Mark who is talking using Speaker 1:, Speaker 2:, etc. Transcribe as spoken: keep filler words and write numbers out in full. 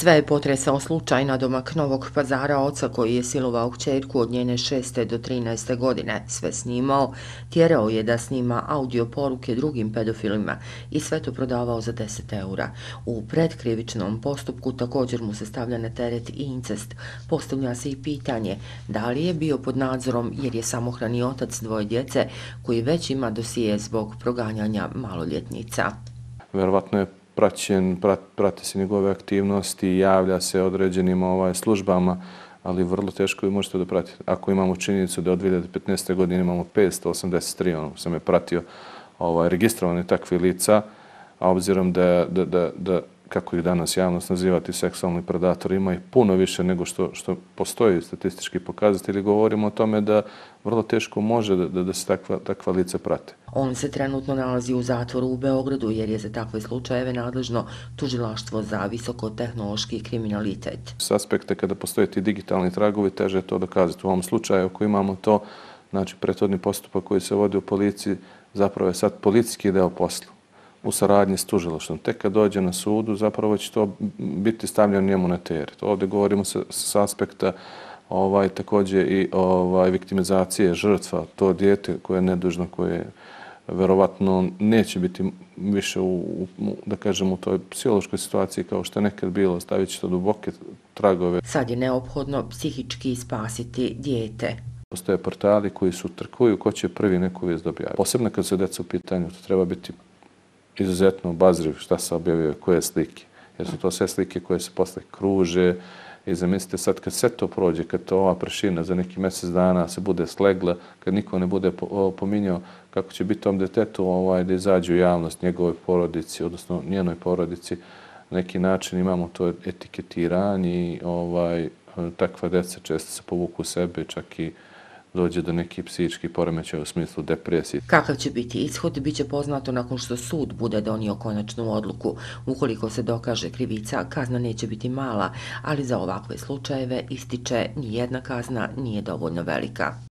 Speaker 1: Sve je potresao slučaj nadomak Novog Pazara oca koji je silovao kćerku od njene šeste do trinaeste godine, sve snimao, tjerao je da snima audio poruke drugim pedofilima i sve to prodavao za deset eura. U predkrivičnom postupku također mu se stavlja na teret i incest. Postavlja se i pitanje da li je bio pod nadzorom jer je samohrani otac dvoje djece koji već ima dosije zbog proganjanja maloljetnica.
Speaker 2: Verovatno je praćen, prat, prati se njegove aktivnosti, javlja se određenim ovaj, službama, ali vrlo teško je možete da pratite. Ako imamo činjenicu da od dvije hiljade petnaeste. godine imamo petsto osamdeset tri, ono sam je pratio, ovaj, registrovane takve lica, a obzirom da, da, da, da kako ih danas javnost nazivati seksualni predatori, ima ih puno više nego što, što postoji statistički pokazatelji, govorimo o tome da vrlo teško može da, da, da se takva, takva lica prate.
Speaker 1: On se trenutno nalazi u zatvoru u Beogradu jer je za takve slučajeve nadležno tužilaštvo za visokotehnološki kriminalitet.
Speaker 2: S aspekta kada postoje ti digitalni tragovi, teže je to dokazati. U ovom slučaju ako imamo to, znači prethodni postupak koji se vodi u policiji, zapravo je sad policijski deo posla u saradnji s tužilaštvom. Tek kad dođe na sudu, zapravo će to biti stavljeno njemu na teret. Ovdje govorimo sa, sa aspekta ovaj, također i ovaj, viktimizacije žrtva, to dijete koje je nedužno, koje verovatno neće biti više u, u, da kažem, u toj psihološkoj situaciji kao što je nekad bilo, stavit će to duboke tragove.
Speaker 1: Sad je neophodno psihički spasiti dijete.
Speaker 2: Postoje portali koji su trkuju ko će prvi neku vijest dobijati. Posebno kad su deca u pitanju, to treba biti izuzetno obazriv šta se objavljuje, koje slike. Jer su to sve slike koje se posle kruže i zamislite sad kad sve to prođe, kad to ova prašina za neki mjesec dana se bude slegla, kad niko ne bude pominjao kako će biti tom detetu ovaj, da izađe u javnost njegove porodici, odnosno njenoj porodici, na neki način imamo to etiketiranje i ovaj, takva deca često se povuku u sebe, čak i dođe do nekih psihičkih poremećaja u smislu depresije.
Speaker 1: Kakav će biti ishod, bit će poznato nakon što sud bude donio konačnu odluku. Ukoliko se dokaže krivica, kazna neće biti mala, ali za ovakve slučajeve ističe ni jedna kazna nije dovoljno velika.